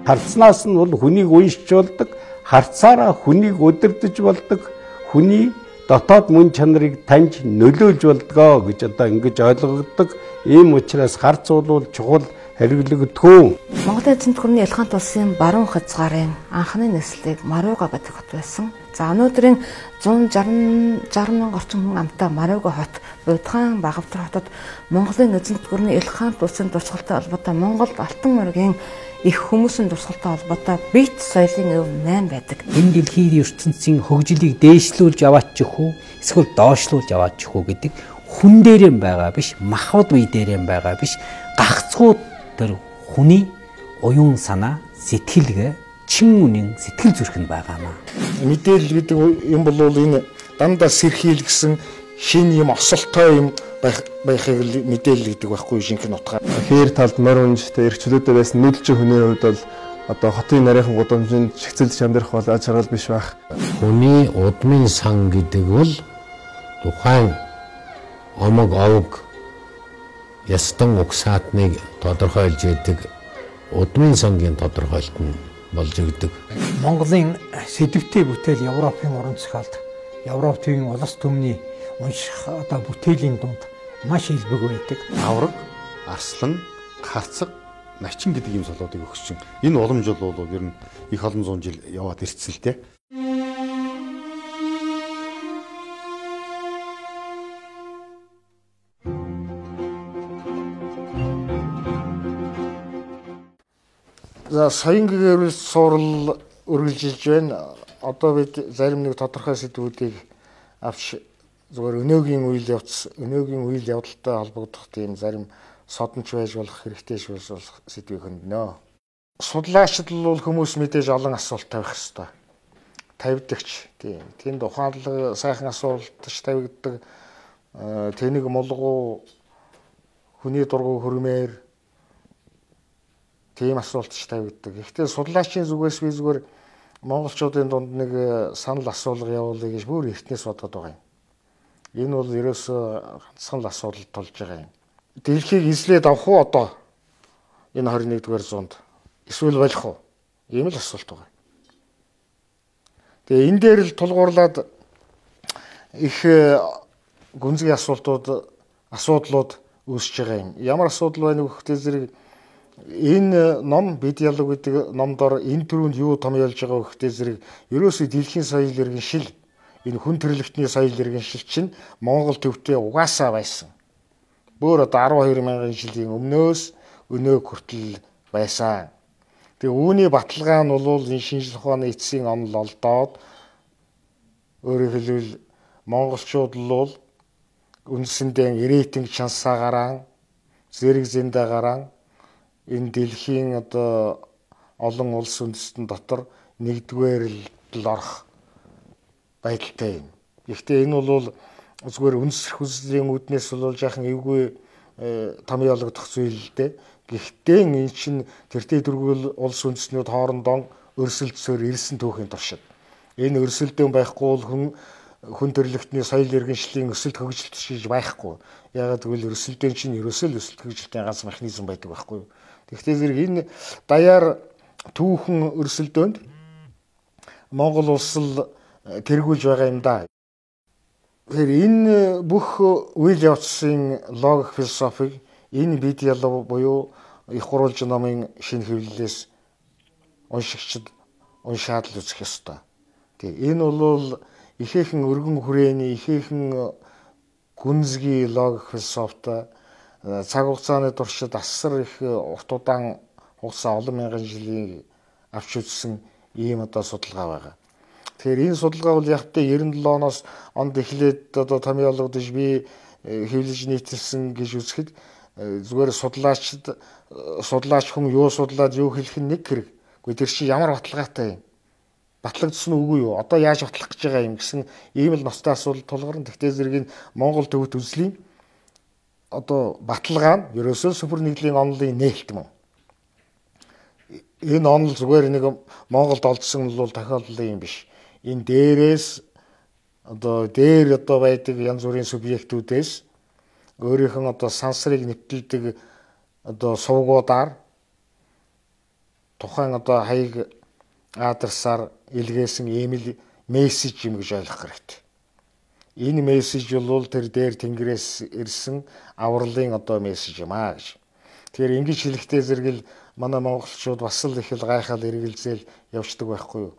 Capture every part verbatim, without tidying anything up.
Харцнаас нь бол хүнийг уншиж болдог, харцаараа хүнийг удирдах болдог, хүний дотоод мөн чанарыг таньж нөлөөлж болдгоо гэж одоо ингэж ойлгогддог. Ийм учраас харц бол чухал хэрэглэгдэхүүн. Монголын эзэнт гүрний Элхант улсын баруун хязгаарын анхны нислэг Маруга гэдэг хот байсан. За өнөөдрийн зуун жаргал мянган орчим хүн амтай Маруга хот Будхан Багавтар хотод Монголын эзэнт гүрний Элхант улсын дурсгалтай холбоотой Монголд алтан моргийн их хүмүүсийн дурсгалтай холбоотой бит соёлын өв найм байдаг. Энэ дэлхийн ертөнцийн хөгжлийг дээшлүүлж яваачих уу, эсвэл доошлуулж яваачих уу гэдэг хүн дээрэн байгаа биш, махбод бие дээрэн байгаа биш, гагцхүү тэр хүний оюун санаа, сэтгэлгээ, чин үнийн сэтгэл зүрхэнд байгаамаа. Мэдээлэл гэдэг юм бол энэ дандаа сэрхийл гэсэн шин юм осолтой юм байх байхыг мэдээлэл гэдэг байхгүй шинхэн утгаар. Хээр талд морь унжтай эрхчлөөдөө байсан нүүдэлчин хүний хувьд бол одоо хотын нарийнхан гудамжинд чигцэлж амьдрах бол аж аргал биш байх. Хүний удмын сан гэдэг бол тухайн омог овг ястан угсаатныг тодорхойлж яадаг удмын сангийн тодорхойлт нь болж өгдөг. Монголын сэдвтэй бүтээл Европын уран зохиолд, Европын улс төмний унших одоо бүтээлийн дунд маш илбэг байдаг. Авраг, арслан, харцаг, начин гэдэг ийм солиодыг өгсөн. Энэ уламж бол ер нь их олон зуун жил яваад ирсэн л дээ. За соён гэрэл суурал үргэлжилж байна. Одоо бид зарим нэг тодорхой сэдвүүдийг авч зүгээр өнөөгийн үйл явц, өнөөгийн үйл явдалтай холбогдох тийм зарим содонч байж болох хэрэгтэй шүүс болох сэдвийг хөндлөнө. Судлаачид бол хүмүүс мэдээж олон асуулт тавих хэрэгтэй. Тавьдагч тийм. Тэнд ухаанлаг сайхан асуултч тавигддаг. Тэнийг молгоо хүний дургу хөрмээр тийм асуултч тавигддаг. Гэхдээ судлаачийн зүгээс би зүгээр монголчуудын дунд нэг санал асуулга явуулъя гэж бүр эртнээс бодоод байгаа юм. Энэ бол ерөөсөө ганцхан л асуудал тулж байгаа юм. Дэлхийг эзлээд авах уу одоо энэ хорин нэгдүгээр зуунд эсвэл болох уу? Ийм л асуулт байгаа. Тэгээ энэ дээр л тулгуурлаад их гүнзгий асуултууд, асуудлууд үүсэж байгаа юм. Ямар асуудал байна вэ гэхдээ зэрэг энэ ном бид ялаг гэдэг номдор энэ төрөнд юу томьёолж байгаа вэ гэхдээ зэрэг ерөөсөө дэлхийн соёл иргэншил, энэ хүн төрөлхтний соёл иргэншил чинь Монгол төвтэй угаасаа байсан. Бүр одоо арван хоёр мянган жилийн өмнөөс өнөө хүртэл байсан. Тэгээ үүний баталгаа нь бол энэ шинжлэх ухааны эцсийн онол олдоод өөрөөр хэлбэл монголчууд л үндсэндээ рейтинг чансаагараа, зэрэг зэндаагараа энэ дэлхийн одоо олон улс үндэстэн дотор нэгдүгээр л орох байдалтай юм. Гэхдээ энэ бол зүгээр үндэслэх үзлийн үүднээс бол жаахан эвгүй томьёологдох зүйл л дээ. Гэхдээ энэ чинь тэртээ дөрвөл улс үндэстнүүд хоорондоо өрсөлдсөөр ирсэн түүхийн туршид. Энэ өрсөлдөөн байхгүй бол хүн хүн төрлөختний соёл иргэншлийн өсөлт хөгжилт шиж байхгүй. Ягаад гэвэл өрсөлдөөн чинь ерөөсөө л өсөлт хөгжилтийн ганц механизм байдаг байхгүй юу? Тэгэхдээ зэрэг энэ даяар түүхэн өрсөлдөөнд Монгол улс л тэргүүлж байгаа юм да. Тэгэхээр энэ бүх үйл явцын логик философиг энэ бид ялуу буюу их гурвалж номын шинэ хэвлэлээс уншигчид уншаад л үзэх ёстой. Тэг. Энэ бол ихээхэн өргөн хүрээний ихээхэн гүнзгий логик философтой цаг хугацааны туршид асар их урт удаан хугацаа олон мянган жилийн авч үзсэн ийм одоо судалгаа байгаа. Тэгэхээр энэ судалгаа бол яг тэ девяносто седьмой оноос онд эхлээд одоо томьёологдож би хэвлэж нийтэлсэн гэж үзэхэд зүгээр судлаачид судлаач хүн юу судлаад юу хэлэх нь нэг хэрэг. Гэхдээ тэр чинь ямар баталгаатай юм? Батлагдсан үгүй юу? Одоо яаж батлах гэж байгаа юм гэсэн ийм л ностой асуудал тулгарна. Тэгтээ зэрэг энэ Монгол төвд үзлийн одоо баталгаа нь ерөөсөө сүмпэр нэгдлийн онолын нээлт юм. Энэ онол зүгээр нэг Монголд олдсон бол тохиолдол юм биш. Энэ дээрээс одоо дээр одоо байдаг янз бүрийн субъектүүдээс өөрийнх нь одоо сансрыг нэвтэлдэг одоо сувгуудаар тухайн одоо хаяг адресаар илгээсэн имэйл мессеж юм гэж ойлгох хэрэгтэй. Энэ мессеж бол тэр дээр тэнгэрээс ирсэн авралын одоо мессеж юм аа гэж. Тэгэхээр ингэж хэлэхдээ зэрэгэл манай монголчууд бас л их л гайхаад эргэлзээл явждаг байхгүй юу?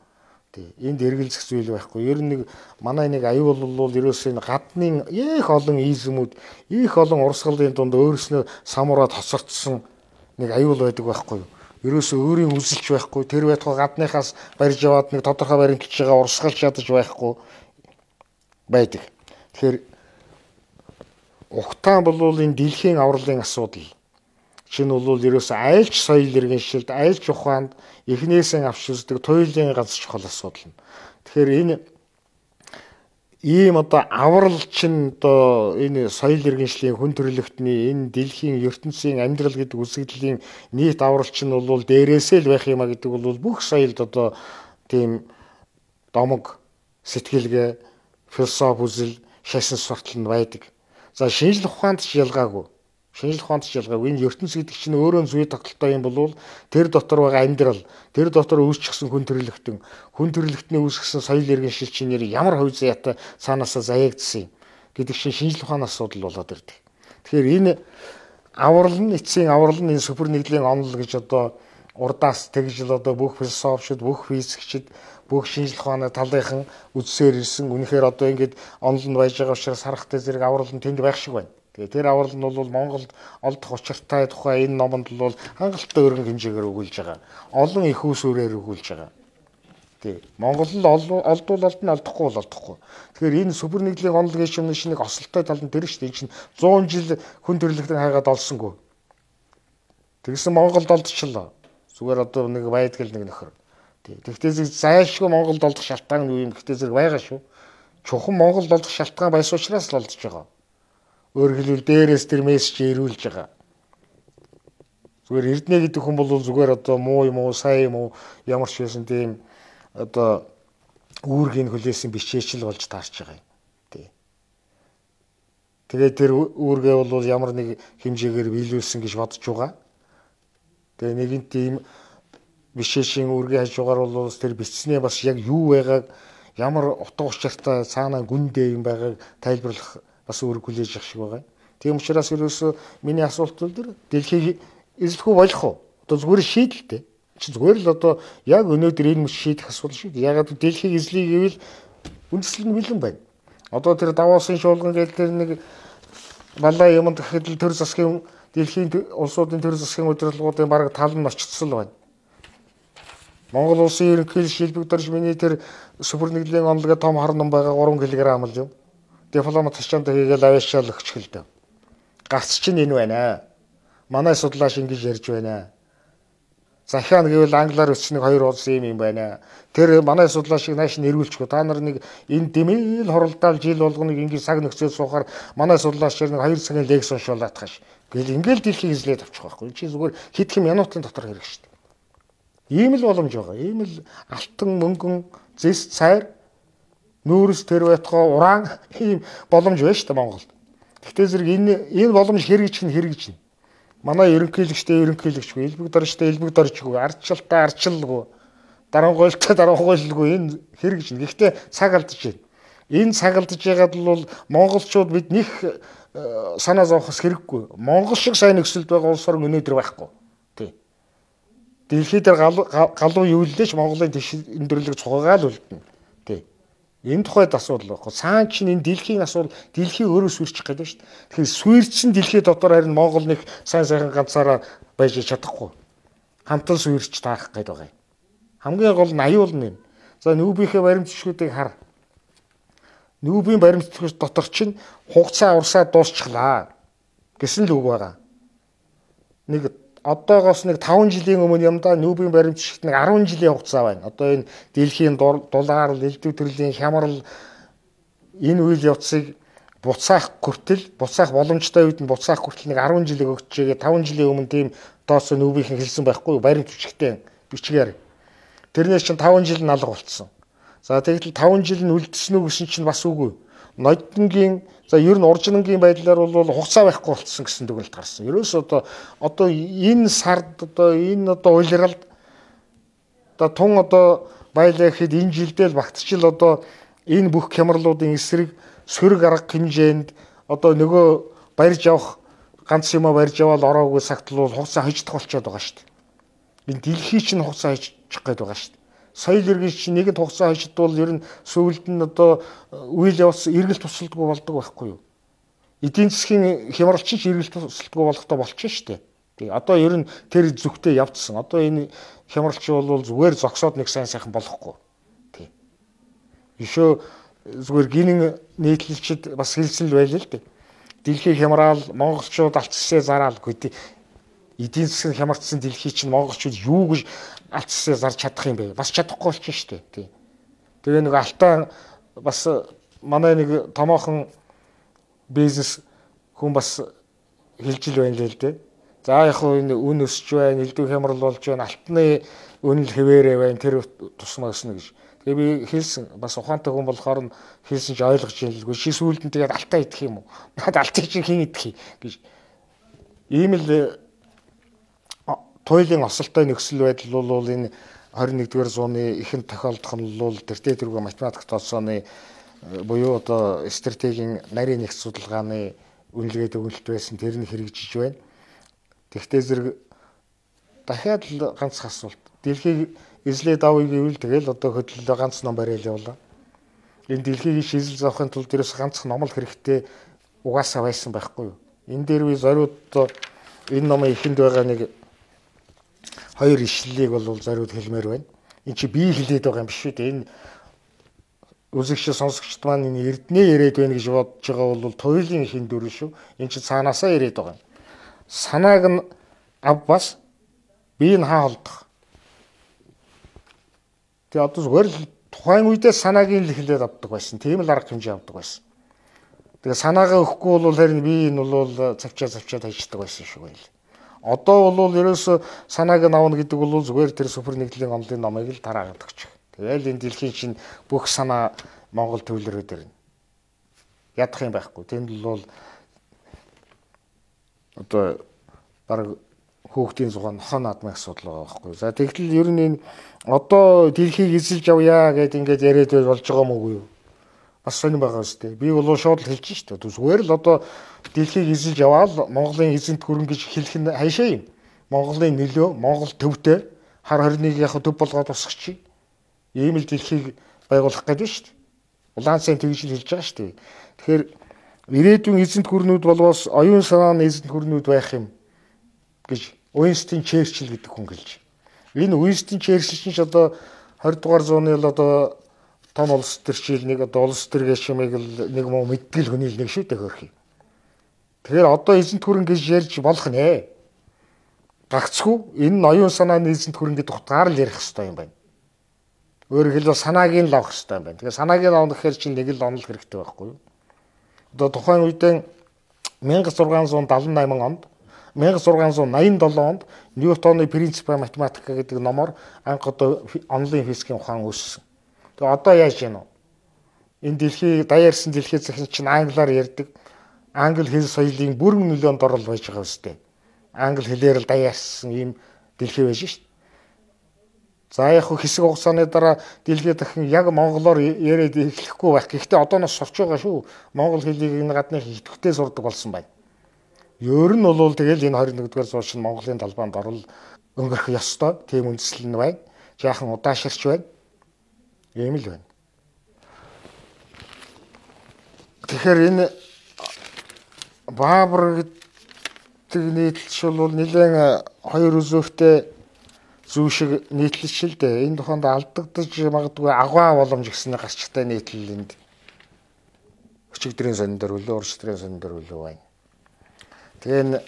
Тий. Энд эргэлзэх зүйл байхгүй. Ер нь нэг манай нэг аюул бол ерөөсөө энэ гадны их олон измүүд, их олон урсгалын дунд өөрснөө самураад хоцордсон нэг аюул байдаг байхгүй юу? Ерөөсөө өөрийн үзэлч байхгүй. Тэр байтугай гадныхаас барьж яваад нэг тодорхой баримтж байгаа урсгалж ядаж байхгүй байдаг. Тэгэхээр ухтаан бол энэ дэлхийн авралын асуудал. Чинь бол ерөөсөө айлч соёл иргэншилд, айлч ухаанд эхнээсээ авч үздэг туйлын ганц чухал асуудал. Тэгэхээр энэ ийм одоо аврал чинь одоо энэ соёл иргэншлийн хүн төрөлхтний энэ дэлхийн ертөнцийн амьдрал гэдэг үзэгдлийн нийт аврал чинь бол дээрээсээ л байх юм а гэдэг бол бүх соёлд одоо тийм домог сэтгэлгээ, философи үзэл, шашин суртал нь байдаг. За шинжлэх ухаанд ч ялгаагүй. Шинжлэх ухаанд ч ялгаагүй. Энэ ертөнц гэдэг чинь өөрөө зүй тогтолтой юм бол тэр дотор байгаа амьдрал, тэр дотор үүсчихсэн хүн төрөлхтөн, хүн төрөлхтний үүсгэсэн соёл иргэншил чинь ямар хувь заяатай цаанаасаа заяагдсан юм гэдэг чинь шинжлэх ухааны асуудал болоод ирдэг. Тэгэхээр энэ аврал нь эцсийн аврал нь энэ супер нэгдлийн онол гэж одоо урдаас тэгж л одоо бүх философичд, бүх физикчд, бүх шинжлэх ухааны талынхан үдсээр ирсэн. Үнэхээр одоо ингэж онол нь байж байгаа учраас харахтай зэрэг аврал нь тэнд байх шиг байна. Тэгээ тэр аврал нь бол Монголд олдох учиртай тухай энэ номонд бол хангалттай өргөн хэмжээгээр өгүүлж байгаа. Олон их усүрээр өгүүлж байгаа. Тий. Монгол л олдвол олдно, олдохгүй бол олдохгүй. Тэгэхээр энэ супер нэгдлийн онол гэж юм шиг нэг осолтой тал нь тэр шүү дээ. Энэ чинь зуун жил хүн төрөлхтөн хайгаад олсонгүй. Тэгсэн Монголд олдчихлоо. Зүгээр одоо нэг байдгал нэг нөхөр. Тий. Тэгтээ зэрэг зайлшгүй Монголд олдох шалтгаан нь юу юм? Тэгтээ зэрэг байгаа шүү. Чухам Монголд олдох шалтгаан байсан учраас л олдож байгаа. Өөрөөр хэлбэл дээрээс тэр мессеж ирүүлж байгаа. Зүгээр эрдэнэ гэдэг хүн бол зүгээр одоо муу юм уу, сайн юм уу, ямар ч байсан тийм одоо үүргийг хүлээсэн бичээчл болж таарч байгаа юм. Тий. Тэгээд тэр үүргээ бол ямар нэг хэмжээгээр биелүүлсэн гэж бодож байгаа. Тэгээ нэгэн тийм бишээшийн үүргээ хаж байгаа бол тэр бичснээ бас яг юу байгааг, ямар утга учиртай цаанаа гүндээ юм байгааг тайлбарлах бас үүрэг хүлээж авах шиг байгаа. Тийм учраас ерөөсөө миний асуулт бол тэр дэлхийг эзлэхгүй болох уу? Одоо зүгээр шийдэлтэй. Чи зүгээр л одоо яг өнөөдөр энэ мэт шийдэх асуудал шүү дээ. Ягаад дэлхийг эзлэе гэвэл үндэслэл нь бэлэн байна. Одоо тэр Давосын шуулган гэдэг тэр нэг балаа юмд гэхэд л төр засгийн дэлхийн улсуудын төр засгийн удирдлагуудын бараг тал нь очицсан байна. Монгол улсын ерөнхийлөгч шилбэгдэрч миний тэр супер нэгдлийн онолгоо том хар ном байгаа гурван килограмм л юм. Дипломат тачаанд хийгээл аваашаал өгчихлээ. Гарц чинь энэ байна. Манай судлаач ингэж ярьж байна. Захиан гэвэл англиар өчснэг хоёр улс юм юм байна. Тэр манай судлаачийг нааш нэрвүүлчихгүй. Та нар нэг энэ дэмэл хоролдоол жил болгоныг ингэж цаг нөхцөл суухаар манай судлаачаар нэг хоёр цагийн лекц уншуулаад хаш. Гэл ингээл дэлхийг эзлээд авчих байхгүй. Чи зүгээр хэдхэн минутын дотор хэрэг шүү дээ. Ийм л боломж байгаа. Ийм л алтан мөнгөн зэс цайр нүүрс тэр байтугай уран ийм боломж байна шүү дээ Монголд. Гэхдээ зэрэг энэ энэ боломж хэрэгжих нь хэрэгжинэ. Манай ерөнхийлөгчтэй ерөнхийлөгчгүй, элбэг дорчтой элбэг дорчгүй, ардчилтай ардчилгүй, дарангуйлтай дарангуйлгүй энэ хэрэгжинэ. Гэхдээ цаг алдаж байна. Энэ цаг алдаж байгаад бол монголчууд бид них санаа зовхос хэрэггүй. Монгол шиг сайн нөхцөлд байгаа улс орн өнөөдөр байхгүй. Тий. Дэлхийд галуу юу лээч Монголын өндөрлөг цугаагаал үлдэнэ. Тий. Энэ тухайд асуудал байхгүй. Цаан чинь энэ дэлхийн асуудал, дэлхий өөрөө сүрчих гэдэг шүү дээ. Тэгэхээр сүрчин дэлхий дотор харин Монгол нэг сайн сайхан ганцаараа байж чадахгүй. Хамтан сүрч таах гэдэг байгаа юм. Хамгийн гол нь аюул нь. За нүүбийнхээ баримтчгуудыг хар. Нүүбийн баримтчгууд дотор чинь хугацаа урсаа дуусчихлаа гэсэн л үг байгаа. Нэг одоогоос нэг таван жилийн өмнө юм да нүүбийн баримтчигт нэг арван жилийн хугацаа байна. Одоо энэ дэлхийн дулаар, элдв төрлийн хямрал энэ үйл явцыг буцаах хүртэл, буцаах боломжтой үед нь буцаах хүртэл нэг арван жилиг өгчээгээ таван жилийн өмнө тийм доосо нүүбийнхэн хэлсэн байхгүй юу? Баримтчигтэй бичгээр. Тэрнээс чинь таван жил нь алга болцсон. За тэгэхдээ таван жил нь үлдсэн үү гэсэн чинь бас үгүй. Нодингийн за ер нь уржингийн байдлаар бол хугацаа байхгүй болцсон гэсэн дүгнэлт гарсан. Ерөөс одоо одоо энэ сард одоо энэ одоо улиралд одоо тун одоо баялаа гэхэд энэ жилдээ л багтчил одоо энэ бүх хямралуудын эсрэг сөрөг арга хэмжээнд одоо нөгөө барьж авах ганц юм барьж аваад ороогүй сагтлуул хугацаа хождох болчиход байгаа шүү дээ. Энэ дэлхий чинь хугацаа хожчих гээд байгаа шүү дээ. Соёл иргэн чинь нэгэнд хугацаа хождвол ер нь сүүлд нь одоо үйл явц эргэл тусалдаггүй болдог байхгүй юу? Эдийн засгийн хямралч чинь эргэл тусалдаггүй болохтой болчихно шүү дээ. Тэгээ одоо ер нь тэр зүгтээ явцсан. Одоо энэ хямралч бол зүгээр зогсоод нэг сайн сайхан болохгүй. Тий. Ишөө зүгээр гинэн нийтлэлчд бас хэлсэн л байл л дээ. Дэлхий хямраал монголчууд алцсаа зараал гэдэг. Эдийн засгийн хямарчсан дэлхий чинь монголчууд юу гэж алцсаа зарж чадах юм бэ? Бас чадахгүй болчихно шүү дээ. Тий. Тэгээ нэг алтаа бас манай нэг томоохон бизнес хүн бас хэлж ил байна л дээ. За яг хөө энэ үн өсч байна, элдв хямрал болж байна, алтны үнэл хэвээрээ байна, тэр тусмаа өснө гэж. Тэгээ би хэлсэн бас ухаантай хүн болохоор нь хэлсэн чи ойлгож ялгүй. Чи сүүлд нь тэгээд алтаа идэх юм уу? Надад алтыг чи хэн идэх гэж. Ийм л туйлын осолтой нөхцөл байдал бол энэ двадцать нэгдүгээр зууны ихэнх тохиолдох нь бол тэртээ тэргүй математик тооцооны буюу одоо стратегийн нарийн нэгц судалгааны үнэлгээд өгөлт байсан тэр нь хэрэгжиж байна. Тэгтээ зэрэг дахиад л ганц асуулт. Дэлхийг эзлээд авъя гэвэл тэгэл одоо хөдөлгөөн ганц ном барайл явлаа. Энэ дэлхийг шийдэл заахын тулд ерөөс ганц ном л хэрэгтэй угаасаа байсан байхгүй юу? Энэ дээр би зориуд энэ номын эхэнд байгаа нэг хоёр ишлэлийг бол зориуд хэлмээр байна. Энд чи би хэлээд байгаа юм биш үү? Энэ үзэгч сонсогчд маань энэ эрдэнэ яриад байна гэж бодож байгаа бол туйлын ихэн дөрөв шүү. Энд чи цаанаасаа яриад байгаа юм. Санааг нь ав бас би энэ хаа холдох. Тэгээ одоо зүгээр л тухайн үедээ санааг нь л хэлээд авдаг байсан. Тийм л арга хэмжээ авдаг байсан. Тэгээ санаагаа өгөхгүй бол харин би энэ бол цавчаа цавчаа таждаг байсан шүү байл. Одоо бол ерөөсө санааг нь авна гэдэг бол зүгээр тэр супер нэгдлийн онлын номыг л тараагаад өгч. Тэгэл энэ дэлхийн чинь бүх санаа Монгол төвлөрөөд ирнэ. Ядах юм байхгүй. Тэнд бол одоо баг хүүхдийн зугаан хон наадмын асуудал байгаа байхгүй. За тэгтэл ер нь энэ одоо дэлхийг эзэлж авъя гэдээ ингээд яриад болж байгаа юм уу юу? Бас сонирн байгаа үстэй. Би бол шууд л хэлж шүү дээ. Зүгээр л одоо дэлхийг эзэлж аваад Монголын эзэнт гүрэн гэж хэлэх нь хайшаа юм. Монголын нөлөө, Монгол төвтэй хар хорныг яг төв болгоод тусахчий. Ийм л дэлхийг байгуулах гэдэг шүү дээ. Улаан цайн тэгж хэлж байгаа шүү дээ. Тэгэхээр ирээдүйн эзэнт гүрнүүд болвоос оюун санааны эзэнт гүрнүүд байх юм гэж Уинстон Черчилль гэдэг хүн хэлж. Энэ Уинстон Черчилль чинь одоо двадцать дугаар зууны л одоо том улс төрчил нэг одоо улс төр гişмийг л нэг муу мэдтгэл хүний л нэг шүү дээ хөрхий. Тэгэхээр одоо эзэнт гүрэн гэж ярьж болох нэ. Гагцгүй энэ нь оюун санааны эзэнт гүрэн гэдэг утгаар л ярих хэрэгтэй юм байна. Өөрөөр хэлбэл санааг нь л авах хэрэгтэй юм байна. Тэгэхээр санааг нь авах гэхээр чинь нэг л онол хэрэгтэй байхгүй юу? Одоо тухайн үедээ мянга зургаан зуун дадлан найман онд мянга зургаан зуун наян долоон онд Ньютоны принципа математика гэдэг номоор анх одоо онлын физикийн ухаан үүссэн. Тэгээ одоо яаж яана вэ? Энэ дэлхий даяарсан дэлхий захин чинь англиар ярьдаг. Англи хэл соёлын бүрэн нөлөөнд орол байж байгаа үстэй. Англи хэлээр л даяарсан ийм дэлхий байж шít. За яг хэсэг хугацааны дараа дэлхий дахин яг монголоор яриад эхлэхгүй байх. Гэхдээ одоо нас сурч байгаа шүү. Монгол хэлийг энэ гадны идэвхтэй сурдаг болсон байна. Ер нь бол тэгэл энэ двадцать нэгдүгээр зуун шин Монголын талбайд орол өнгөрөх ёстой. Тийм үндэслэл нь байна. Жаахан удааширч байна. Ийм л байна. Тэгэхээр энэ Баабар гэдэг нийтлэлч бол нэлээд хоёр үзүүртэй зүү шиг нийтлэлч л дээ. Энэ тухайд алдагдаж магадгүй агуу боломж гэсэн гарчтай нийтлэлэнд өчигдрийн сонин дээр үлээ, урштрийн сонин дээр үлээ байна. Тэгээ энэ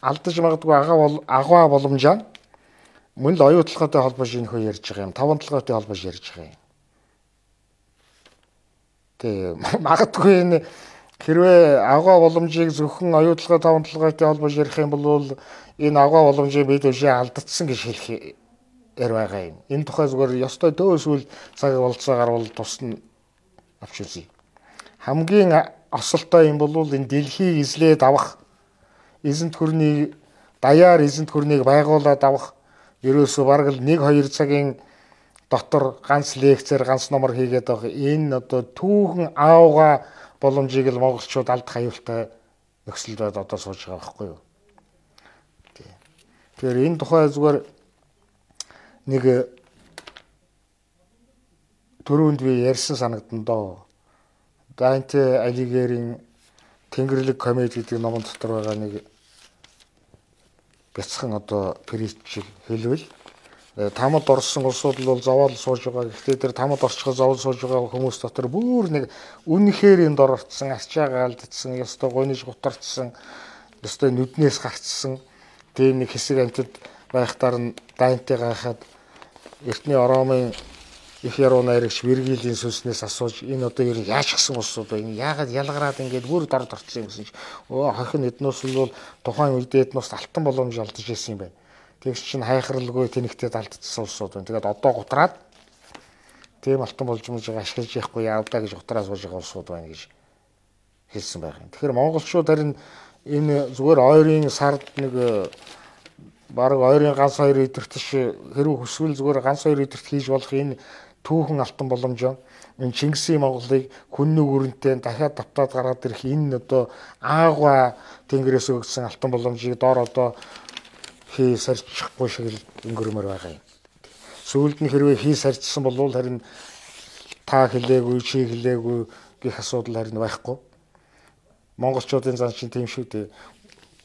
алдаж магадгүй агуу агуу боломжаа мөн л оюун толгойтой холбож энэ хөө ярьж байгаа юм. Таван толгойтой холбож ярьж байгаа юм. Тэгээ магадгүй энэ хэрвээ агуу боломжийг зөвхөн оюун толгой таван толгойтой холбож ярих юм бол энэ агуу боломжийг бид өшөө алдагдсан гэж хэлэх яар байгаа юм. Энэ тухай зүгээр ёстой дөөсвөл цаг болцоо гарвал тусна авч үзье. Хамгийн осолтой юм бол энэ дэлхийг эзлээд авах эзэнт гүрнийг даяар эзэнт гүрнийг байгуулад авах ерөөсөө бараг л нэг хоёр цагийн дотор ганц лекцээр ганц номер хийгээд байгаа энэ одоо түүхэн аавга боломжийг л монголчууд алдах аюултай нөхцөлд одоо сууж байгаа байхгүй юу. Тэгэхээр энэ тухай зүгээр нэг түрүүнд би ярьсан санагдан доо. Данте Алигерийн Тэнгэрлэг комеди гэдэг номон дотор байгаа нэг бяцхан одоо притчийг хэлвэл тамад орсон улсууд бол зовоол сууж байгаа. Гэхдээ тэр тамад орчиход зовоол сууж байгаа хүмүүс дотор бүр нэг үнэхээр энд орцсон, арчаагаа алдсан, ёстой гойнож гутарцсан, ёстой нүднээс гарцсан тийм нэг хэсэг амьтад байхтаар нь Данте гайхаад эртний Ромын их яруу найрагч Вергилийн сүнснээс асууж энэ одоо ер нь яаж гсэн улсууд вэ? Энэ яагаад ялгараад ингээд бүр дорд орцсон юм гэсэн чинь өө хахин эднос бол тухайн үед эднос алтан боломж алдаж ирсэн юм байна. Тэгс чинь хайхралгүй тэнэгтээд алдчихсан улсууд байна. Тэгээд одоо гутраад тийм алтан боломжийг ашиглаж яахгүй яавдаа гэж гутраа сууж байгаа улсууд байна гэж хэлсэн байх юм. Тэгэхээр монголчууд харин энэ зүгээр ойрын сард нэг бараг ойрын ганц хоёр өдөртөш хэрэг хүсвэл зүгээр ганц хоёр өдөрт хийж болох энэ түүхэн алтан боломжоо энэ Чингисийн Монголыг хүннэг өрөнтэй дахиад давтаад гаргаад ирэх энэ одоо аагва тэнгэрээс өгсөн алтан боломжийг доор одоо хий сарчихгүй шиг л өнгөрмөр байгаа юм. Сүүлд нь хэрвээ хий сарчсан бол харин та хэлээгүй чи хэлээгүй гэх асуудал харин байхгүй. Монголчуудын зан чинь тийм шүү дээ.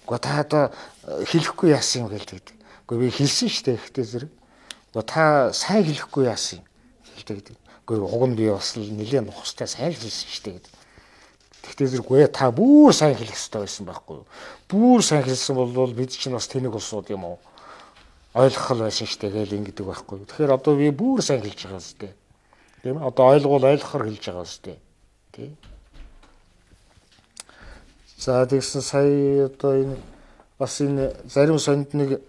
Гэхдээ та одоо хэлэхгүй яасан юм гэлдэг. Гэхдээ би хэлсэн шүү дээ ихтэй зэрэг. Гэхдээ та сайн хэлэхгүй яасан юм гэлдэг. Гэхдээ уг нь би бас л нэлээд нухастай сайн хэлсэн шүү дээ гэдэг. Тэгтээ зэрэггүй та бүр сайн хэлэх хэрэгтэй байсан байхгүй юу? Бүр сайн хэлсэн бол бид чинь бас тэнэг улсууд юм уу? Ойлгох л байсан шүү дээ гэл ингэдэг байхгүй юу? Тэгэхээр одоо би бүр сайн хэлж байгаа шүү дээ. Тийм ээ? Одоо ойлгол ойлгохоор хэлж байгаа шүү дээ. Тий? За тэгсэн сая одоо энэ бас энэ зарим сонд нэг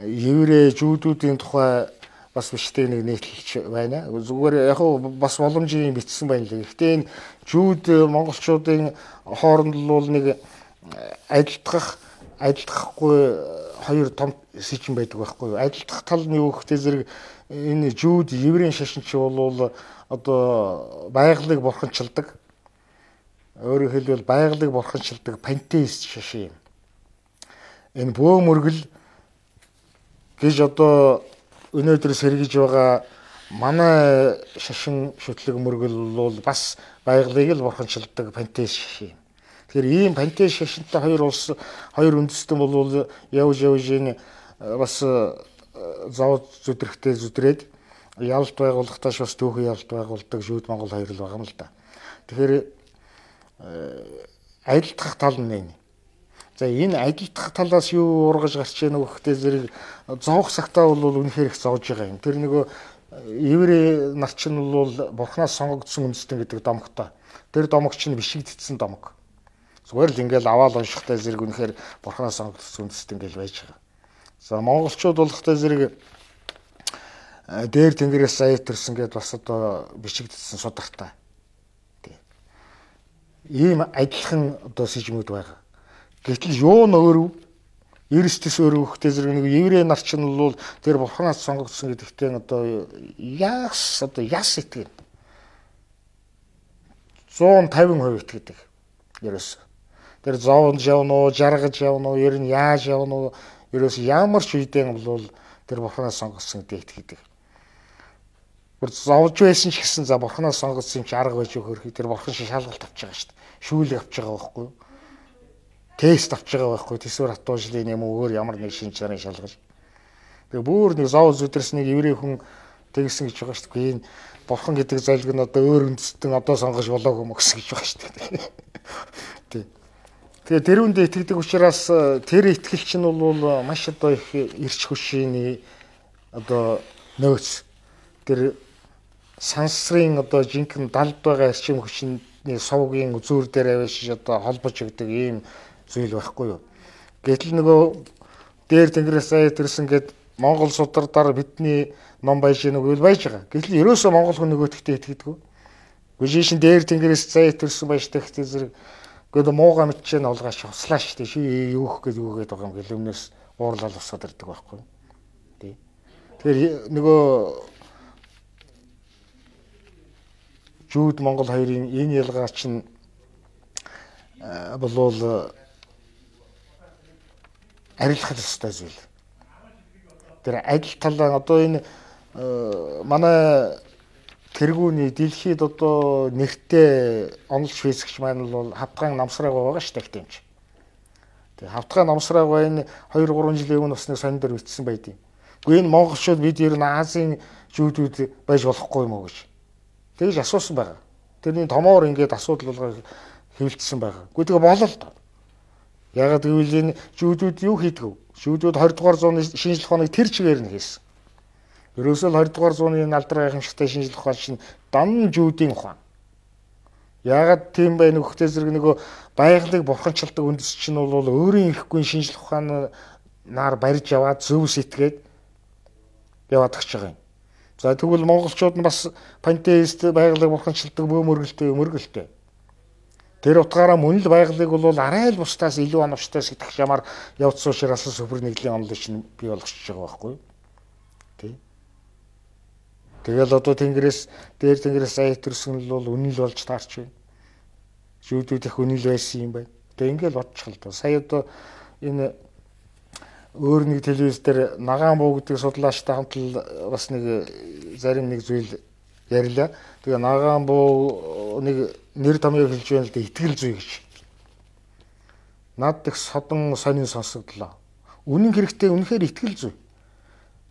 еврей жүүдүүдийн тухай бас биштэй нэг нийтлэлч байна. Зүгээр яг бас боломжийг бичсэн байна лээ. Гэхдээ энэ жүүд монголчуудын хооронд бол нэг адилдах адилдахгүй хоёр том сэжин байдаг байхгүй юу? Адилдах тал нь юу гэхтэй зэрэг энэ жүүд еврейн шашинч бол одоо байгалыг бурханчилдаг. Өөрөөр хэлбэл байгалыг бурханчилдаг пантеист шашин юм. Энэ бөө мөргөл гэж одоо өнөөдөр сэргийж байгаа манай шашин шүтлэг мөргөл бол бас байгалыг л бурханчилдаг пантеист шашин юм. Тэгэхээр ийм пантеист шашинтай хоёр улс хоёр үндэстэн бол явж явж энэ бас зов зүдрэхтэй зүдрээд ялалт байгууллагатаас бас түүхэн ялалт байгуулдаг жүүд Монгол хоёр л байгаа юм л да. Тэгэхээр адилдах тал нь энэ. За энэ адилдах талаас юу ургаж гарч ийнэ гэхтэй зэрэг зовх цагтаа бол үнэхээр их зовж байгаа юм. Тэр нөгөө еврей нар чинь бол бурхнаас сонгогдсон үндэстэн гэдэг домогтой. Тэр домог чинь бишигдсэн домог. Зүгээр л ингээл аваал уншихтай зэрэг үнэхээр бурхнаас сонгогдсон үндэстэн гэж байж байгаа. За монголчууд болохтой зэрэг дээр тэнгэрээс сая төрсөн гэдээ бас одоо бишигдсэн судартай. Ийм адилхан одоо сэжмүүд байгаа. Гэтэл юу н өөрөө Иристэс өөрөө хөхтэй зэрэг нэг еврей нар чинь бол тэр бурхнаас сонгогдсон гэдэгтээ одоо яас одоо яс итгэв. one hundred fifty percent итгэдэг. Ерөөс. Тэр зовж явна уу, жаргаж явна уу, ер нь яаж явна уу, ерөөс ямар ч үедээ бол тэр бурхнаас сонгогдсон гэдэгт итгэдэг. Бүр зовж байсан ч гэсэн за бурхнаас сонгогдсон юм чи арга байж өгөх тэр бурхан шиг шалгалт авч байгаа шүү дээ. Шүүлэг авч байгаа байхгүй юу? Тест авч байгаа байхгүй юу? Тэсвэр хатуужлын юм өөр ямар нэг шинж чанарын шалгал. Тэгээ бүр нэг зов зүдэрс нэг еврей хүн тэгсэн гэж байгаа шүү дээ. Энэ бурхан гэдэг залг нь одоо өөр үндэстэн одоо сонгож болоогүй юм гэсэн гэж байгаа шүү дээ. Тий. Тэгээ тэрүүндээ итгэдэг учраас тэр итгэл чинь бол маш одоо их эрч хөшөөний одоо нөөц. Тэр сансрын одоо жинхэнэ далд байгаа эрчим хүчний сувгийн үзүүр дээр авчиж одоо холбож өгдөг ийм зүйл байхгүй юу. Гэтэл нөгөө дээр тэнгэрээс сая төрсөн гэд Монгол судардаар бидний ном байж нэг үйл байж байгаа. Гэтэл ерөөсөө монгол хүн нөгөөдөгтөө итгэдэг. Гүжишин дээр тэнгэрээс сая төрсөн байж тэгтээ зэрэг гэдэг мууга мэдчээ нь олгоош хуслаа штэ ши юух гэж юу гэдэг байгаа юм гэл өмнөөс уурлал усаад ирдэг байхгүй юу. Тий. Тэгэхээр нөгөө Жүүд Монгол хоёрын энэ ялгаа чинь болвол арилгах ёстой зүйл. Тэр адил талаа одоо энэ манай тэргүүний дэлхийд одоо нэртэй онол швейцарч маань бол хавтган намсраг байгаа шүү дээ гэмч. Тэгээ хавтган намсраг ба энэ хоёр гурван жилийн өмнө бас нэг сонин дээр бичсэн байдیں۔ Гэхдээ энэ монголчууд бид ер нь Азийн жүүдүүд байж болохгүй юм уу гэж. Тэгж асуусан байгаа. Тэрний томоор ингээд асуудал болгоо хэвлэлсэн байгаа. Гэхдээ тэгээ болол тоо. Ягаад гэвэл энэ жүүдүүд юу хийдэг вэ? Жүүдүүд двадцать дугаар зууны шинжлэх ухааныг тэр чигээр нь хийсэн. Ерөөсөө двадцать дугаар зууны алдар гайхамшигтай шинжлэх ухаан чинь дан жүүдийн ухаан. Ягаад тийм байх нөхөтэй зэрэг нөгөө байгалыг бурханчилдаг үндэс чинь бол өөрийн ирэхгүй шинжлэх ухаанаар барьж яваад зөв сэтгээд яваад гэж байгаа юм. За тэгвэл монголчууд нь бас пантеист байгалыг бурханчилдаг бөөмөргөлтэй өмөргөлтэй. Тэр утгаараа мөн л байгалыг бол арай л бусдаас илүү оновчтой сэтгэх ямаар явцсан учраас супер нэгдлийн онолыг чинь бий болгочихж байгаа байхгүй юу? Тий. Тэгэл одоо тэнгэрээс дээр тэнгэрээс ая төрсөн л бол үнэн л болж таарч байна. Жүүдүүд их үнэн л байсан юм байна. Тэгээ ингээл бодчих л доо. Сая одоо энэ өөр нэг телевиз дээр Нагаан буу гэдэг судлаачтай хамт л бас нэг зарим нэг зүйл ярьлаа. Тэгээ Нагаан буу нэг нэр томьёо хэлж байна л да итгэл зүй гэж. Над их содон сонин сонсогдлоо. Үнэн хэрэгтэй үнэхээр итгэл зүй.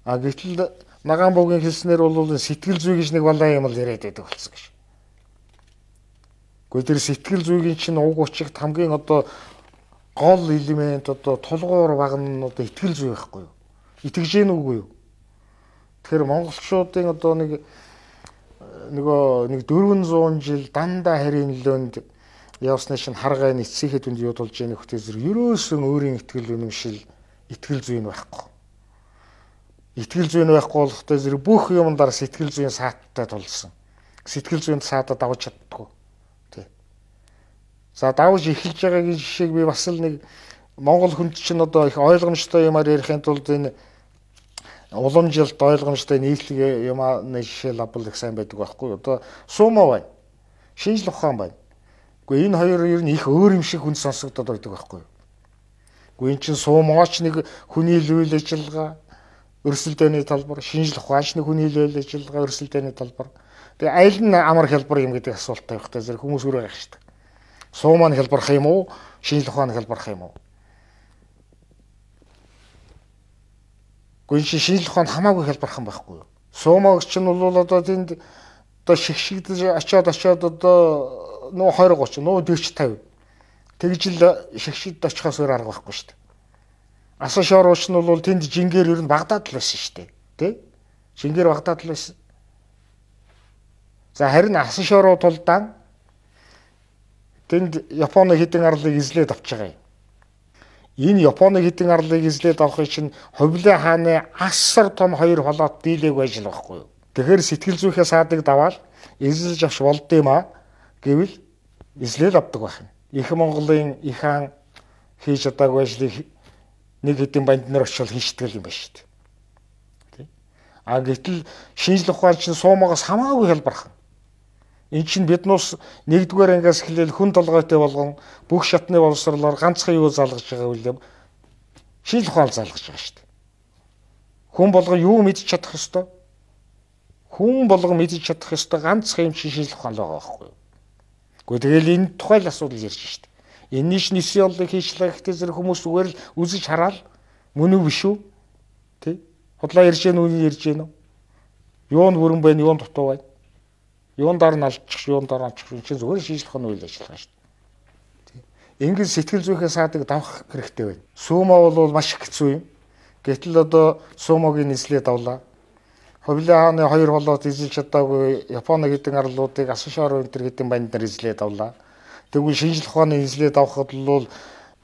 А гэтэл Нагаан буугийн хэлснээр бол сэтгэл зүй гэж нэг балаа юм л яриад байдаг болсон гэж. Гэхдээ тэр сэтгэл зүйн чинь уг учирт хамгийн одоо гол элемент одоо тулгуур баг нь одоо итгэл зүй байхгүй юу? Итгэж гин үгүй юу? Тэгэхээр монголчуудын одоо нэг нөгөө нэг дөрвөн зуун жил дандаа харийн нөлөөнд явсны шин харгай нэцсийхэд үнд юудулж яах нөхтэй зэрэг ерөөсөн өөрийн итгэл үнэмшил итгэл зүй нь байхгүй. Итгэл зүй нь байхгүй болохтой зэрэг бүх юмдаар сэтгэл зүйн сааттай тулсан. Сэтгэл зүйн саатад давж чаддгүй. За давж эхэлж байгаагийн жишээг би бас л нэг монгол хүнд чинь одоо их ойлгомжтой юмар ярихын тулд энэ уламжилт ойлгомжтой нийтлэг юмны жишээ лабл их сайн байдаг байхгүй юу? Одоо сумо байна. Шинжлэх ухаан байна. Гэхдээ энэ хоёр ер нь их өөр юм шиг хүн сонсогдоод байдаг байхгүй юу? Гэхдээ эн чинь сумооч нэг хүний үйл ажиллагаа, өрсөлдөөний талбар, шинжлэх ухаанч нэг хүний үйл ажиллагаа, өрсөлдөөний талбар. Тэгээ аль нь амар хялбар юм гэдэг асуулттай байх та зэрэг хүмүүс өөрөө гайх штэ. Сумаа нь хялбарх юм уу? Шинжлэх ухаан нь хялбарх юм уу? Гэхдээ шинжлэх ухаан хамаагүй хялбархан байхгүй юу? Сумаа ч нь бол одоо тэнд одоо шигшигдэж очиод очиод одоо нөө двадцать тридцать нөө forty fifty тэгж л шигшигд очихоос өөр арга байхгүй шүү дээ. Асан шорууч нь бол тэнд жингээр ер нь Багдад л байсан шүү дээ. Тэ? Жингээр Багдад л байсан. За харин асан шоруу тулдаан тэнд Японы хэдэн арлыг эзлээд авч байгаа юм. Энэ Японы хэдэн арлыг эзлээд авахыг чинь Хувлын хааны асар том хоёр холоот дийлээг байж л байхгүй юу. Тэгэхээр сэтгэл зүйхээ саадаг даваал эзэлж авч болдсон юм а гэвэл эзлээд авдаг байх юм. Их Монголын их хаан хийж чадаагүй ажлыг нэг хэдэн банд нар очил хийчихдэг юм байна шүү дээ. А гэтэл шинжлэх ухаан чинь суумагаас хамаагүй хялбархан. Энд чинь биднээс нэгдүгээр ангиас эхлээл хүн толгойтой болгон бүх шатны боловсролоор ганцхан юу залгаж байгаа вэ? Шинжлэх ухаан залгаж байгаа шүү дээ. Хүн болгон юу мэдж чадах ёстой? Хүн болгон мэдж чадах ёстой ганцхан юм чинь шинжлэх ухаан байгаа байхгүй юу? Гэхдээ тэгэл энэ тухай л асуудал ярьж шүү дээ. Энэний чинь нисиолыг хийчлээ гэхдээ зэрэг хүмүүс зүгээр л үзэж хараад мөн үү биш үү? Тэ? Худлаа ярьж гэнэ үү ярьж гэнэ үү? Юунд бүрэн байна, юунд дутуу байна? Юунд дараа нь алдчих, юунд дараа нь алчих чинь зүгээр шинжлэх ухааны үйл ажиллагаа шүү дээ. Ингээд сэтгэл зүйхээ саадаг давах хэрэгтэй байна. Сумо бол маш их хэцүү юм. Гэтэл одоо сумогийн эзлээд авлаа. Хувлын хааны хоёр холоот эзэлж чадаагүй Японы хэдэн арлуудыг асан шороо энэ төр хэдэн банд нар эзлээд авлаа. Тэгвэл шинжлэх ухааны эзлээд авахд бол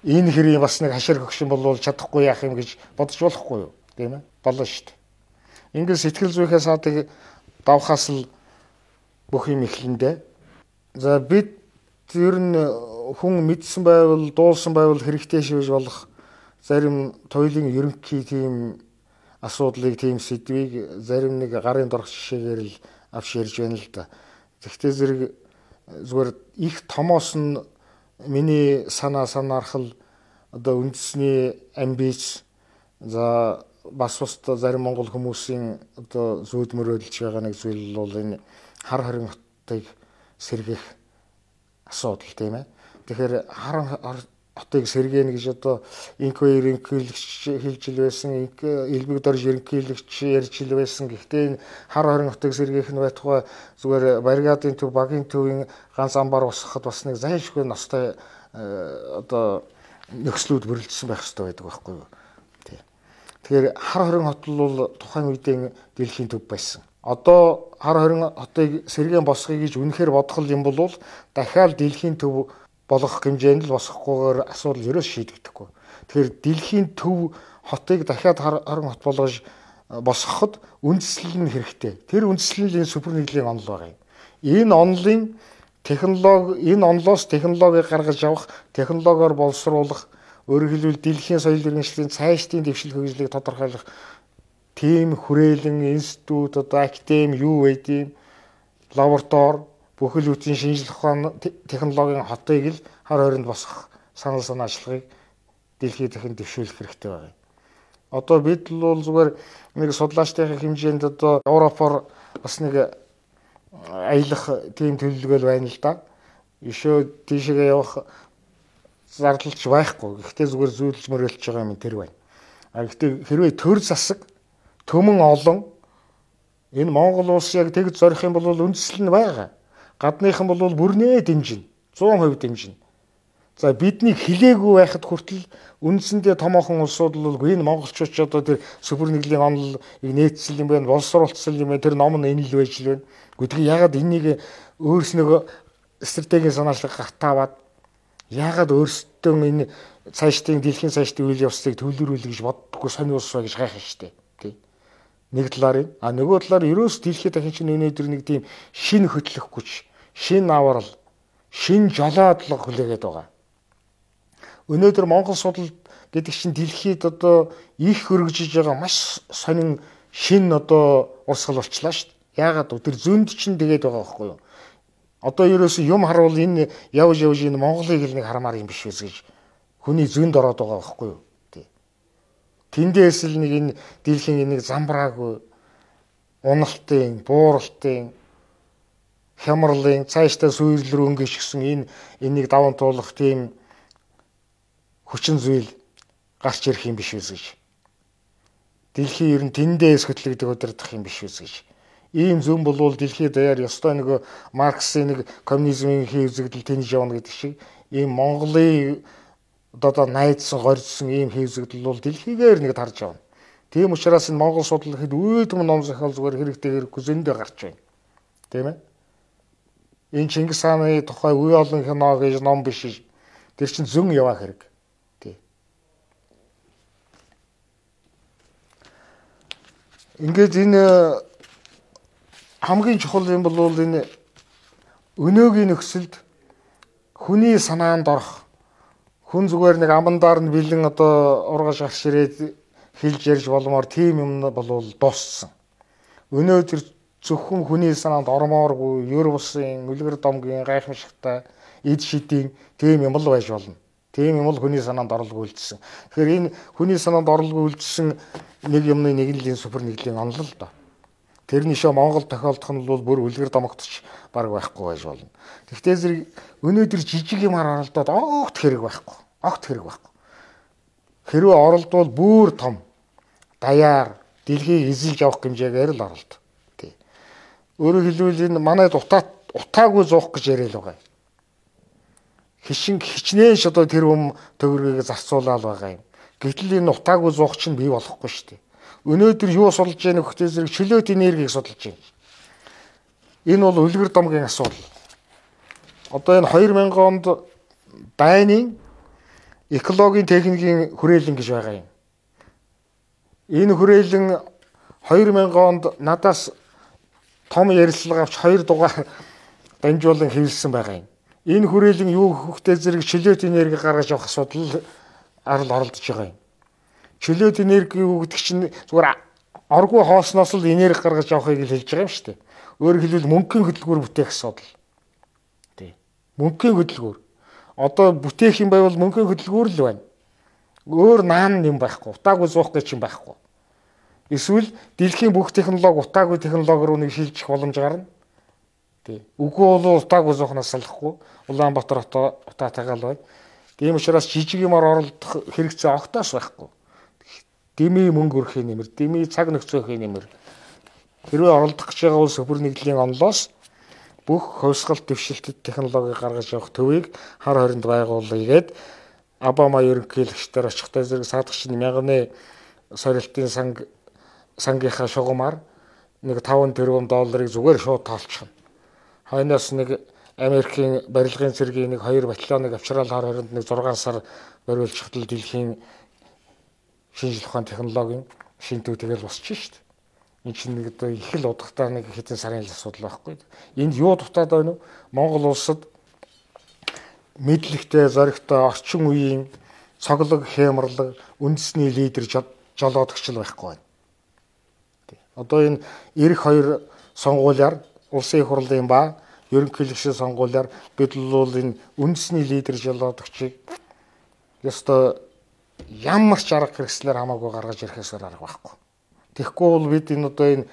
энэ хэрэг бас нэг хашир хөгшин болвол чадахгүй яах юм гэж бодож болохгүй юу? Тийм ээ? Болно шүү дээ. Ингээд сэтгэл зүйхээ саадаг давхаас л бүх юм эхлэндэ. За бид ер нь хүн мэдсэн байвал, дуулсан байвал хэрэгтэй шивж болох зарим туйлын ерөнхий тийм асуудлыг, тийм сэдвийг зарим нэг гарын дорх жишээгээр л авч ярьж байна л да. Тэгтээ зэрэг зүгээр их томоос нь миний санаа санаархал одоо үндэсний амбиц за бас бусдаа зарим монгол хүмүүсийн одоо зүйд мөрөөдөлж байгаа нэг зүйл бол энэ хар хорин хотыг сэргэх асуудал тийм ээ. Тэгэхээр хар хотыг сэргээнэ гэж одоо инко ерөнхийлөгч хэлж ил байсан, элбэг дорж ерөнхийлөгч ярьж ил байсан. Гэхдээ энэ хар хорин хотыг сэргээх нь байтугай зүгээр баррикадын төв, багийн төвийн ганц амбар босгоход бас нэг зайлшгүй ностой одоо нөхцлүүд бүрэлдсэн байх хэрэгтэй байдаг байхгүй юу. Тэгэхээр хар хорин хот бол тухайн үеийн дэлхийн төв байсан. Одоо хар хорин хотыг сэргээн босгоё гэж үнэхээр бодох юм бол дахиад дэлхийн төв болох хэмжээнд л босгохгүйгээр асуудал ерөөс шийдэгдэхгүй. Тэгэхээр дэлхийн төв хотыг дахиад хар хорин хот болгож босгоход үндэслэл нь хэрэгтэй. Тэр үндэслэлийн супер нэгдлийн онол байгаа юм. Энэ онолын технологи энэ онолоос технологи гаргаж авах, технологиор боловсруулах, өөрөөр хэлбэл дэлхийн соёл иргэншлийн цаашдын дэвшил хөгжлийг тодорхойлох тийм хүрээлэн институт одоо академи юу байдیں۔ Лаборатори бүхэл бүтэн шинжлэх ухааны технологийн хотыг л хар хоринд босгох санал санаа ажиллагааг дэлхийд дахин дэвшүүлэх хэрэгтэй байна. Одоо бид л бол зүгээр нэг судлаачдын хэмжээнд одоо Европоор бас нэг аялах тийм төлөвлөгөө байна л да. Ишөө тийшээ явах зардалч байхгүй. Гэхдээ зүгээр зүйдлж мөрөлж байгаа юм тэр байна. А гэхдээ хэрвээ төр засаг төмөн олон энэ Монгол улс яг тэгж зорих юм бол үндэслэл нь байгаа. Гадныхан бол бүрнээ дэмжинэ. сто процент дэмжинэ. За бидний хилээгүй байхад хүртэл үндсэндээ томоохон улсууд бол энэ монголчууд ч одоо тэр супер нэгдлийн онолыг нээцсэн юм байна, боловсруулсан юм байна. Тэр ном нь энэ л байж л байна. Гэхдээ ягаад энийг өөрснөө стратегийн санаачлаг гартааваад ягаад өөрсдөө энэ цаашдын дэлхийн цаашдын үйл явцыг төвлөрүүлэх гэж боддоггүй сони улс ба гэж гайхах штеп. Тий. Нэг талаар нь а нөгөө талаар ерөөс дэлхийд дахин чинь өнөөдөр нэг тийм шин хөтлөх хүч, шин аврал, шин жолоодлого хүлээгээд байгаа. Өнөөдөр Монгол судал гэдэг чинь дэлхийд одоо их хөргөжж байгаа маш сонин шин одоо урсгал болчлаа шүү дээ. Яагаад тэр зөнд чинь тэгээд байгаа байхгүй юу? Одоо ерөөсөө юм харуул энэ явж явж энэ Монголыг л нэг хармаар юм биш үз гэж хүний зөнд ороод байгаа байхгүй юу? Тий. Тэндээс л нэг энэ дэлхийн нэг замбраагүй уналтын, бууралтын, хямралын цаашдаа сүйрэл рүү өнгөшгсөн энэ энийг даван туулах тийм хүчин зүйл гарч ирэх юм биш үз гэж. Дэлхийн ер нь тэндээс хөтлөгдөг удирдах юм биш үз гэж. Ийм зөв болвол дэлхийд даяар ёстой нэг Марксийн нэг коммунизмын хэвзэгдэл тэнж явна гэдэг шиг ийм Монголын одоо найдсан горьдсон ийм хэвзэгдэл бол дэлхийгээр нэг тарж явна. Тийм учраас энэ Монгол судлал хэд үүдэн ном зохиол зүгээр хэрэгтэй хэрэггүй зөндөө гарч байна. Тийм ээ. Энэ Чингис хааны тухай үе олон кино гэж ном биш. Тэр чинь зөн яваа хэрэг. Тий. Ингээд энэ хамгийн чухал юм бол энэ өнөөгийн нөхцөлд хүний санаанд орох хүн зүгээр нэг амандаар нь бэлэн одоо ургаж гарч ирээд хэлж ярьж болмоор тийм юм бол дууссан. Өнөөдөр зөвхөн хүний санаанд ормооргүй ер бусын үлгэр домгийн гайхамшигтай эд шидийн тийм юм л байж болно. Тийм юм л хүний санаанд орлого үлдсэн. Тэгэхээр энэ хүний санаанд орлого үлдсэн нэг юмны нэгнлийн супер нэгдлийн онол л доо. Тэрний шоо Монгол тохиолдох нь бол бүр үлгэр домогдож баг байхгүй байж болно. Гэхдээ зэрэг өнөөдөр жижиг юмар оролдоод огт хэрэг байхгүй. Огт хэрэг байхгүй. Хэрвээ оролдвол бүр том даяар дэлхийг эзэлж авах хэмжээгээр л оролд. Тий. Өөрөөр хэлбэл энэ манайд утаа утаагүй зуух гэж яриад байгаа юм. Хишин хичнээн ш одоо тэр хүм төгрөгийг зарцуулаад байгаа юм. Гэтэл энэ утаагүй зуух чинь бий болохгүй шүү дээ. Өнөөдөр юу судалж яах вэ гэхээр чөлөөт энергийг судалж байна. Энэ бол үлгэр домгийн асуудал. Одоо энэ хоёр мянган онд дайны экологийн техникийн хүрээлэн гэж байгаа юм. Энэ хүрээлэн хоёр мянган онд надаас том ярилцлага авч хоёр дугаар дамжуулан хэвлэсэн байгаа юм. Энэ хүрээлэн юу хөхтэй зэрэг чөлөөт энерги гаргаж авах асуудал арал оролдож байгаа юм. Чөлөөт энерги юу гэдэг чинь зүгээр оргүй хоосноос л энерги гаргаж авахыг л хэлж байгаа юм шүү дээ. Өөрөөр хэлбэл мөнгөний хөдөлгүүр бүтээх асуудал. Тий. Мөнгөний хөдөлгүүр. Одоо бүтээх юм байвал мөнгөний хөдөлгүүр л байна. Өөр наан юм байхгүй. Утаагүй зуух гэж юм байхгүй. Эсвэл дэлхийн бүх технологи утаагүй технологи руу нэг шилжих боломж гарна. Тий. Үгүй бол утаагүй зуухнаас салахгүй. Улаанбаатар хотоо утаатайгаа л байна. Тийм учраас жижиг юмар оролдох хэрэгцээ огтоос байхгүй. Дэмий мөнгө өрхийн нэмэр, дэмий цаг нөхцөөхийн нэмэр. Хэрвээ оролдох гэж байгаа бол Сүпер нэгдлийн онлоос бүх хувьсгалт дэвшилтэд технологи гаргаж явах төвийг хар хоринд байгуулъя гээд Обама ерөнхийлөгчдөр очихтой зэрэг саадагч мянганы сорилтын санг сангийнхаа шугамар нэг таван тэрбум долларыг зүгээр шууд тоолчихно. Хойноос нэг Америкийн барилгын цэргийн нэг хоёр батальоныг авчрал хар хоринд нэг зургаан сар бариулчихтал дэлхийн шинжлэх ухааны технологийн шинтүү тэгэл босчих шүү дээ. Энэ чинь нэг одоо их л удахтаа нэг хэдэн сарын л асуудал байхгүй. Энд юу дутаад байна вэ? Монгол улсад мэдлэгтэй, зоригтой орчин үеийн цоглог, хямрлаг, үндэсний лидер жолоодогч л байхгүй байна. Одоо энэ эх хоёр сонгуулиар улсын их хурлын ба ерөнхийлөгчийн сонгуулиар бид бол энэ үндэсний лидер жолоодогчийг ёстой ямар ч арга хэрэгслээр хамаагүй гаргаж ирэхээс арга байхгүй. Тэгэхгүй бол бид энэ одоо энэ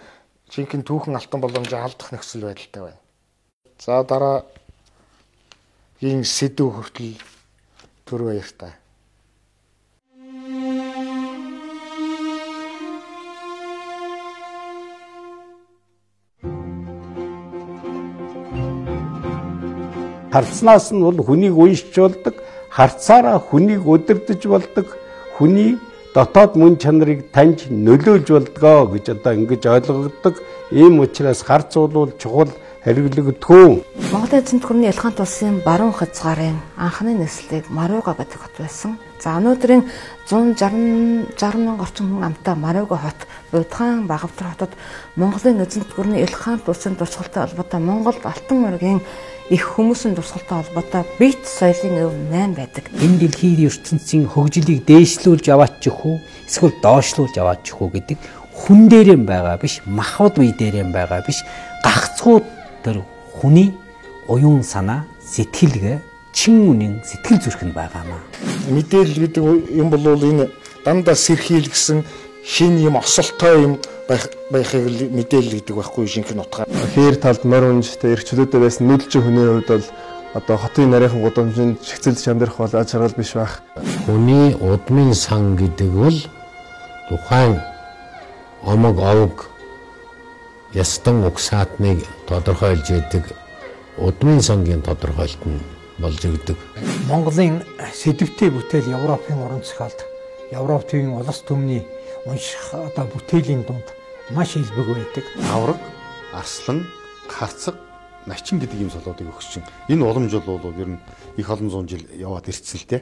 жинхэнэ түүхэн алтан боломжийг алдах нөхцөл байдалтай байна. За дараа ийм сэдв хүртэл түр баяртай. Харцнаас нь бол хүнийг уйшч болдог, харцаараа хүнийг удирдах болдог, хүний дотоод мөн чанарыг таньж нөлөөлж болдгоо гэж одоо ингэж ойлгогддог. Ийм учраас харц бол чухал хэрэглэгдэхүүн. Монголын эзэнт гүрний Илхант улсын баруун хязгаарын анхны нислэг Марууга гэдэг хот байсан. За өнөөдрийн зуун шарван мянган орчим хүн амтай Марууга хот Будхан Багавтар хотод Монголын эзэнт гүрний Илхант улсын дурсгалтай холбоотой Монгол Алтан моргийн их хүмүүсийн дурсгалтай холбоотой бит соёлын өв найм байдаг. Энэ дэлхийн ертөнцийн хөгжлийг дээшлүүлж аваачих уу эсвэл доошлуулж аваачих уу гэдэг хүн дээрээ байгаа биш, махбод бие дээрээ байгаа биш, гагцхүү тэр хүний уян санаа, сэтгэлгээ, чин үнийн сэтгэл зүрхэнд байгаамаа. Мэдээлэл гэдэг юм бол энэ дандаа сэрхийлгсэн шин юм осолтой юм байхыг мэдээлэл гэдэг байхгүй жинхэнэ утгаар. Хээр талд морь унжтай эрхчлөөдөө байсан нүүдэлчин хүний хувьд бол одоо хотын нарийнхан гудамжинд чигцэлж амьдрах бол аж аргал биш байх. Хүний удмын сан гэдэг бол тухайн омог овг ястан угсаатныг тодорхойлж яадаг удмын сангийн тодорхойлт нь болж өгдөг. Монголын сэдвтэй бүтээл Европын уран зохиолд, Европ төвийн улс төмний унших одоо бүтээлийн дунд маш илбэг байдаг. Авраг, арслан, харцаг, начин гэдэг ийм солиодыг өгч чинь энэ уламж бол ер нь их олон зуун жил яваад ирсэн л дээ.